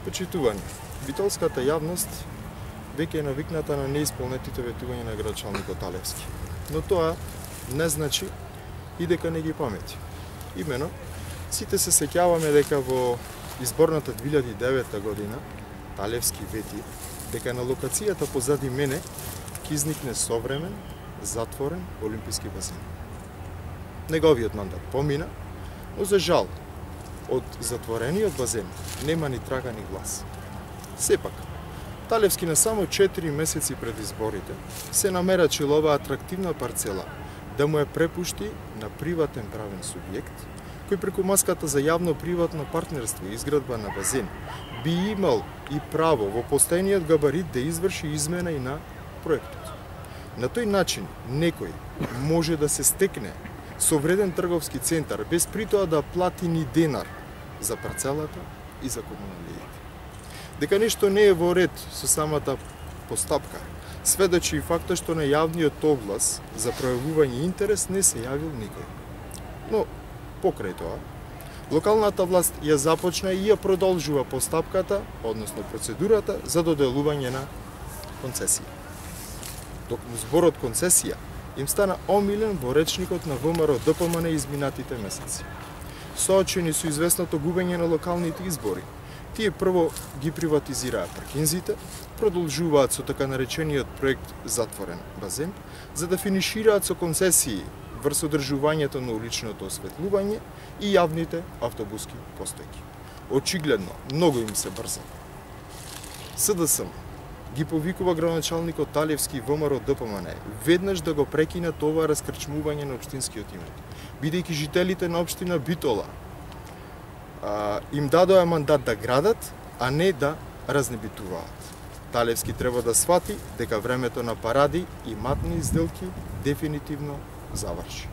Почитување. Битолската јавност веќе е навикната на неисполнетите ветувања на градоначалникот Талевски. Но тоа не значи и дека не ги памети. Имено, сите се сеќаваме дека во изборната 2009 година Талевски вети дека на локацијата позади мене ќе изникне современ, затворен олимписки басен. Неговиот мандат помина, но за жал, од затворениот базен нема ни трага ни глас. Сепак, Талевски на само 4 месеци пред изборите се намерачил оваа атрактивна парцела да му ја препушти на приватен правен субјект, кој преку маската за јавно-приватно партнерство и изградба на базен би имал и право во постојниот габарит да изврши измена и на проектот. На тој начин некој може да се стекне со вреден трговски центар без притоа да плати ни денар за парцелата и за комуналиите. Дека нешто не е во ред со самата постапка, сведочи и фактот што на јавниот оглас за пројавување интерес не се јавил никој. Но, покрај тоа, локалната власт ја започна и ја продолжува постапката, односно процедурата за доделување на концесија. Токму зборот концесија им стана омилен во речникот на ВМРО ДПМН изминатите месеци. Соочени со известното губење на локалните избори, тие прво ги приватизираа паркинзите, продолжуваат со така наречениот проект Затворен базен, за да финишираат со концесии врз одржувањето на уличното осветлување и јавните автобуски постојки. Очигледно, многу им се брза. СДСМ ги повикува градоначалникот Талевски ВМРО ДПМН веднаш да го прекинат ова раскрчмување на општинскиот имот, бидејќи жителите на општина Битола им дадоа мандат да градат, а не да разнебитуваат. Талевски треба да свати дека времето на паради и матни сделки дефинитивно заврши.